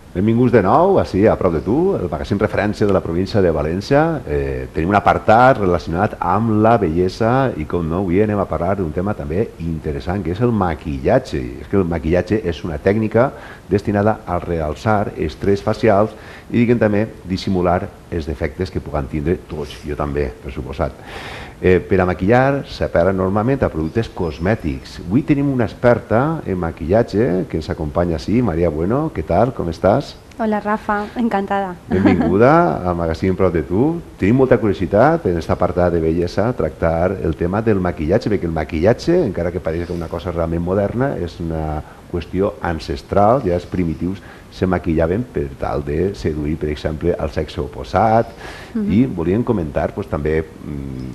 Benvinguts de nou, així, a prop de tu, el magazín referència de la província de València. Tenim un apartat relacionat amb la bellesa i, com no, avui anem a parlar d'un tema també interessant, que és el maquillatge. És que el maquillatge és una tècnica destinada a realçar els trets facials i, diguem també, dissimular els defectes que puguen tindre tots, jo també, per suposat. Per a maquillar s'apel·la normalment a productes cosmètics. Avui tenim una experta en maquillatge que ens acompanya així, Maria Bueno. Què tal? Com estàs? Hola, Rafa. Encantada. Benvinguda al magazín Prop de tu. Tenim molta curiositat en aquesta apartat de bellesa tractar el tema del maquillatge, perquè el maquillatge, encara que pareix una cosa realment moderna, és una qüestió ancestral. Ja els primitius se maquillaven per tal de seduir, per exemple, el sexe oposat, i volíem comentar també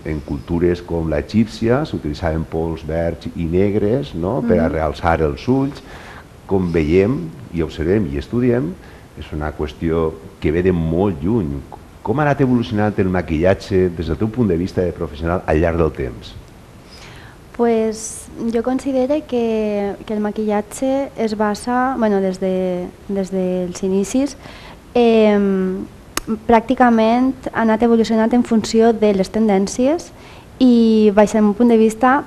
en cultures com l'egípcia s'utilitzaven pols verds i negres per a realçar els ulls. Com veiem i observem i estudiem, és una qüestió que ve de molt lluny. Com ha anat evolucionant el maquillatge des del teu punt de vista de professional al llarg del temps? Pues jo considero que el maquillatge es basa, bueno, des dels inicis, pràcticament ha anat evolucionant en funció de les tendències i, baix el meu punt de vista,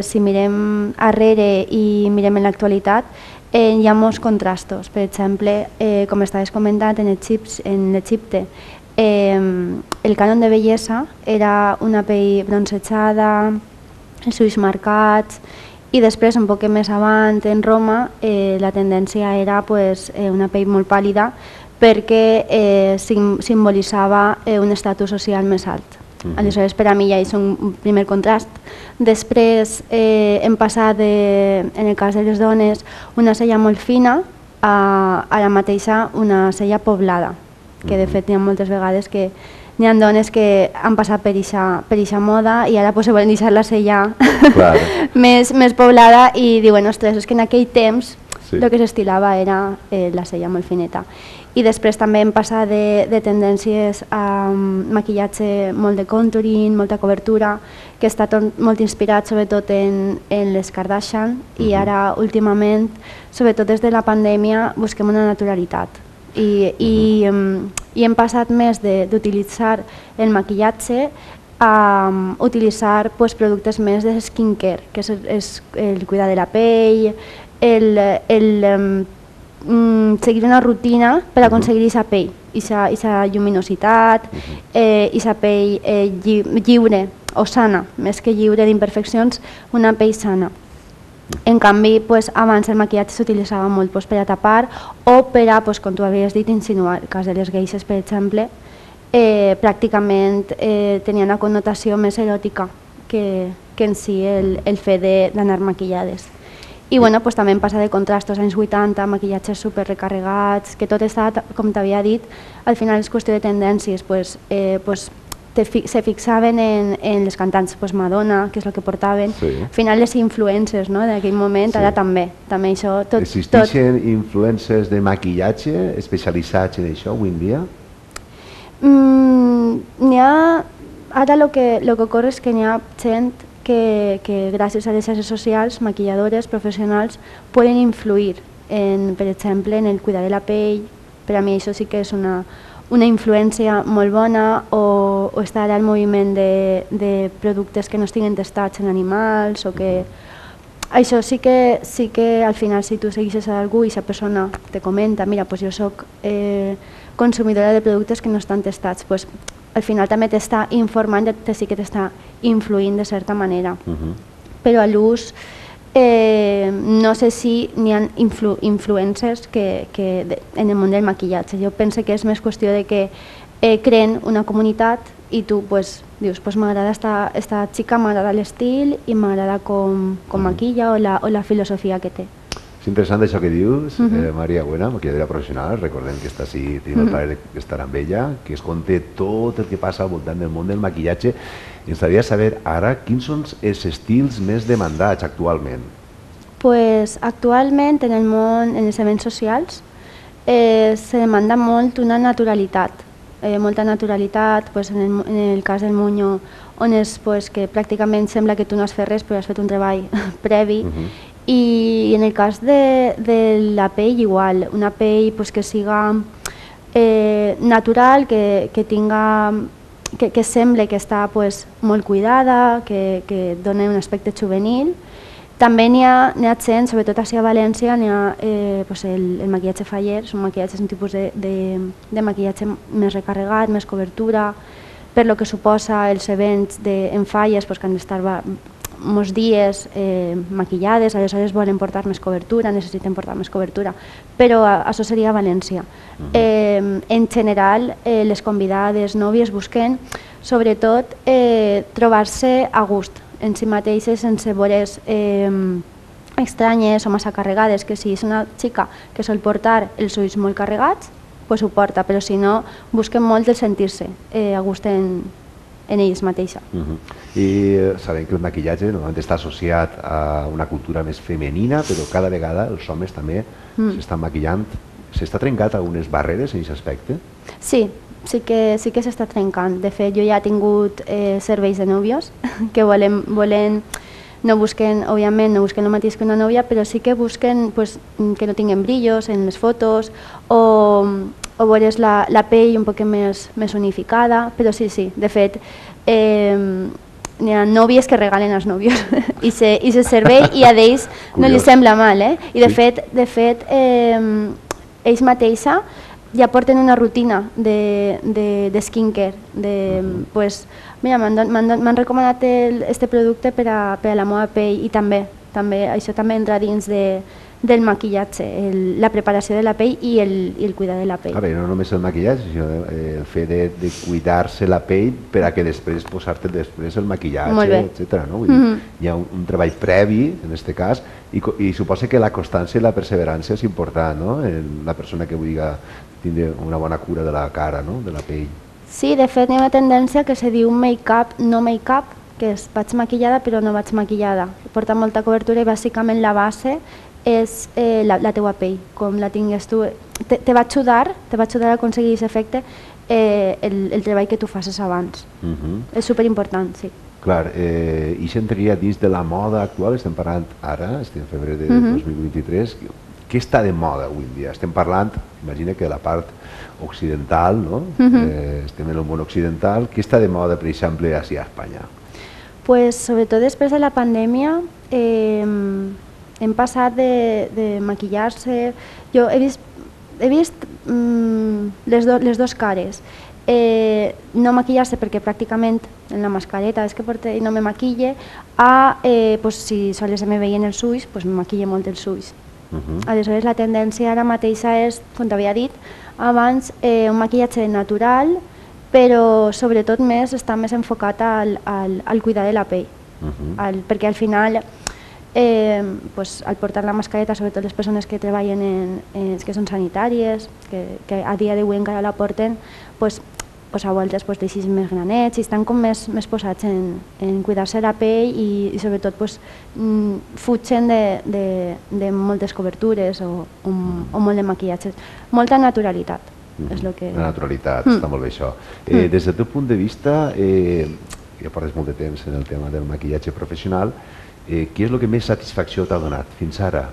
si mirem arrere i mirem en l'actualitat, hi ha molts contrastos. Per exemple, com estaves comentant, en Egipte, el cànon de bellesa era una pell bronzejada, els ulls marcats, i després, un poc més avant, en Roma, la tendència era una pell molt pàl·lida perquè simbolitzava un estatus social més alt. Aleshores, per a mi ja és un primer contrast. Després hem passat, en el cas de les dones, una cella molt fina a la mateixa una cella poblada, que de fet hi ha moltes vegades que hi ha dones que han passat per eixa moda i ara se volen deixar la cella més poblada i diuen, ostres, és que en aquell temps el que s'estilava era la cella molt fineta. I després també hem passat de tendències a maquillatge molt de contouring, molta cobertura, que està molt inspirat sobretot en les Kardashian, i ara últimament, sobretot des de la pandèmia, busquem una naturalitat. I hem passat més d'utilitzar el maquillatge a utilitzar productes més de skincare, que és el cuidar de la pell, seguir una rutina per aconseguir aquesta pell, aquesta lluminositat, aquesta pell lliure o sana, més que lliure d'imperfeccions, una pell sana. En canvi, abans el maquillatge s'utilitzava molt per a tapar o per a, com tu havies dit, insinuar. El cas de les geishes, per exemple, pràcticament tenia una connotació més eròtica que en si el fet d'anar maquillades. I també hem passat de contrastos als anys 80, maquillatges super recarregats, que tot està, com t'havia dit, al final és qüestió de tendències. Se fixaven en les cantants, Madonna, que és el que portaven, al final les influencers d'aquell moment, ara també. Existeixen influencers de maquillatge especialitzats en això avui en dia? Ara el que ocorre és que n'hi ha gent que gràcies a les xarxes socials, maquilladores, professionals, poden influir, per exemple, en el cuidar de la pell. Per a mi això sí que és una influència molt bona, o estar al moviment de productes que no estiguin testats en animals, o que... Això sí que al final, si tu segueixes a algú i aquesta persona te comenta, mira, jo soc consumidora de productes que no estan testats, al final també t'està informant, sí que t'està influint de certa manera. Però a l'ús no sé si n'hi ha influencers que en el món del maquillatge. Jo penso que és més qüestió de que creen una comunitat i tu dius, m'agrada esta xica, m'agrada l'estil i m'agrada com maquilla o la filosofia que té. És interessant això que dius, Maria Buena, maquilladora professional. Recordem que està així, tenim el plaer d'estar amb ella, que es conté tot el que passa al voltant del món del maquillatge. Ens agradaria saber ara quins són els estils més demandats actualment. Actualment en el món, en els events socials, se demanda molt una naturalitat, molta naturalitat, en el cas del Moño, on és que pràcticament sembla que tu no has fet res però has fet un treball previ, I en el cas de la pell igual, una pell pues, que siga natural, que tinga que sembla que està pues, molt cuidada, que dona un aspecte juvenil. També n'hi ha gent, sobretot a València, n'hi ha pues el maquillatge faller, és un tipus de maquillatge més recarregat, més cobertura, per lo que suposa els events en falles pues, que han d'estar molts dies maquillades, aleshores volen portar més cobertura, necessiten portar més cobertura, però això seria a València. En general, les convidades, nòvies, busquen sobretot trobar-se a gust en si mateixes, sense vores estranyes o massa carregades, que si és una xica que sol portar els ulls molt carregats, pues ho porta, però si no, busquen molt el sentir-se a gust en ells mateixa. I sabem que el maquillatge normalment està associat a una cultura més femenina, però cada vegada els homes també s'estan maquillant. S'està trencat algunes barreres en aquest aspecte? Sí, sí que s'està trencant. De fet, jo ja he tingut serveis de nòvios que volen no busquen, òbviament, no busquen el mateix que una nòvia, però sí que busquen pues, que no tinguin brillos en les fotos o veure's la pell un poc més unificada, però sí, de fet, n'hi ha nòvies que regalen als nòvios i se servei i a ells no li sembla mal, i de fet ells mateixa ja porten una rutina de skincare, pues, mira, m'han recomanat este producte per a la meva pell i també això també entra dins del maquillatge, la preparació de la pell i el cuidar de la pell. A veure, no només el maquillatge, sinó el fet de cuidar-se la pell per a que després posar-te després el maquillatge, etc. Hi ha un treball previ, en aquest cas, i suposa que la constància i la perseverança és important, la persona que vulgui tindre una bona cura de la cara, de la pell. Sí, de fet hi ha una tendència que se diu make-up, no make-up, que és vaig maquillada però no vaig maquillada. Porta molta cobertura i bàsicament la base és la teua pell, com la tingues tu. Te va ajudar a aconseguir aquest efecte el treball que tu facis abans. És superimportant, sí. Clar, i s'entraria dins de la moda actual, estem parlant ara, estem en febrer de 2023, què està de moda avui en dia? Estem parlant, imagina que de la part occidental, estem en el món occidental, què està de moda, per exemple, a Espanya? Pues, sobretot després de la pandèmia, hem passat de maquillar-se. Jo he vist les dues cares. No maquillar-se perquè pràcticament en la mascareta és que porto i no me maquille, si sols me veien els ulls, me maquille molt els ulls. Aleshores la tendència ara mateixa és, com t'havia dit abans, un maquillatge natural, però sobretot està més enfocat al cuidar de la pell, perquè al final al portar la mascareta, sobretot les persones que treballen que són sanitàries, que a dia d'avui encara la porten, a voltes deixis més granets i estan com més posats en cuidar-se la pell i sobretot fugen de moltes cobertures o molt de maquillatges. Molta naturalitat. La naturalitat, està molt bé això. Des del teu punt de vista, ja portes molt de temps en el tema del maquillatge professional, què és el que més satisfacció t'ha donat fins ara?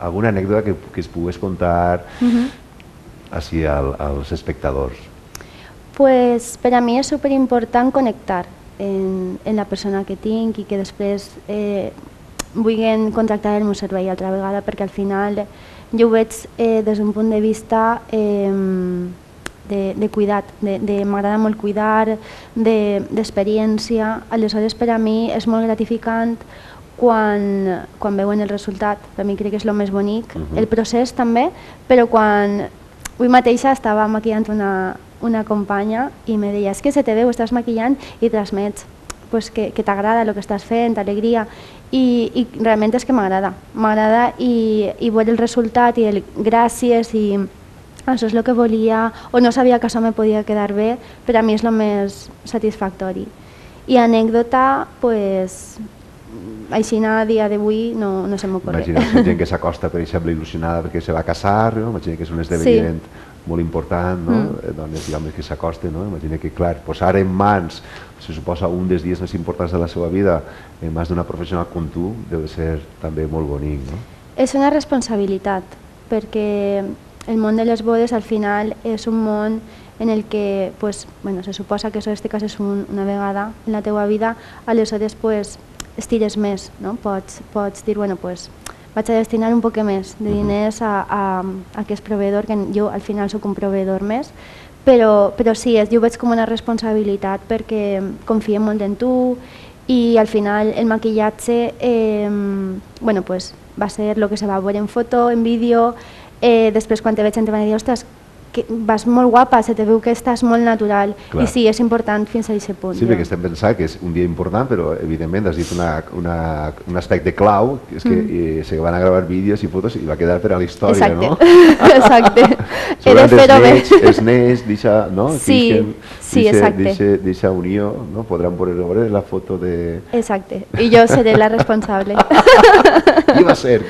Alguna anècdota que es pogués contar als espectadors? Per a mi és superimportant connectar en la persona que tinc i que després vulguin contractar el meu servei altra vegada, perquè al final jo ho veig des d'un punt de vista de cuidat, m'agrada molt cuidar, d'experiència. Aleshores per a mi és molt gratificant quan veuen el resultat. Per mi crec que és el més bonic, el procés també, però quan avui mateixa estava maquillant una companya i me deia, és que se te veu, estàs maquillant i transmets que t'agrada el que estàs fent, alegria, i realment és que m'agrada i veure el resultat i el gràcies i això és el que volia o no sabia que això me podia quedar bé, per a mi és el més satisfactori. I anècdota, així a dia d'avui no se m'ocorre. Imagina gent que s'acosta, per exemple, il·lusionada perquè se va casar, no? Imagina que és un esdeveniment molt important, no? Dones, diguem, que s'acosten, no? Imagina que, clar, posar en mans, se suposa, un dels dies més importants de la seva vida en mans d'una professional com tu, deu de ser també molt bonic, no? És una responsabilitat, perquè el món de les bodes al final és un món en el que pues, bueno, se suposa que això te cases una vegada en la teua vida, aleshores pues, estires més, no? Pots dir, bueno, pues, vaig a destinar un poc més de diners a aquest proveïdor, que jo al final sóc un proveïdor més, però sí, jo ho veig com una responsabilitat perquè confiem molt en tu i al final el maquillatge bueno, pues, va ser el que se va veure en foto, en vídeo, després quan te veig te van dir, ostres, que vas molt guapa, se te veu que estàs molt natural. Clar. I sí, és important fins a aquest punt. Sí, perquè estem pensant que és un dia important, però evidentment has dit un aspecte clau, que és que se van a gravar vídeos i fotos i va quedar per a la història, no? Exacte. He de fer-ho bé. Els nens, no? Sí, exacte. D'aquesta unió, no? Podran veure la foto de... Exacte, i jo seré la responsable. Qui va ser?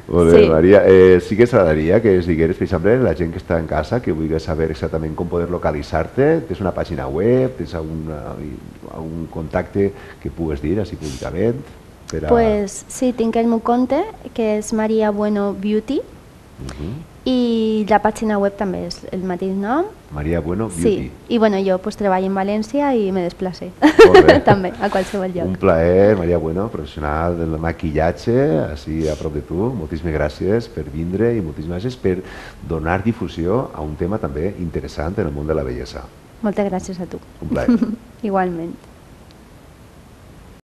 Molt bé, Maria. Sí que ens agradaria que ens digueres, per exemple, la gent que està en casa, que vulgui saber exactament com poder localitzar-te. Tens una pàgina web? Tens algun contacte que pugues dir així públicament? Pues sí, tinc el meu compte, que és Maria Bueno Beauty, i la pàgina web també és el mateix nom. Maria Bueno Beauty. Sí, i bueno, jo pues, treballo en València i me desplace també a qualsevol lloc. Un plaer, Maria Bueno, professional del maquillatge, així a prop de tu. Moltíssimes gràcies per vindre i moltíssimes gràcies per donar difusió a un tema també interessant en el món de la bellesa. Moltes gràcies a tu. Un plaer. Igualment.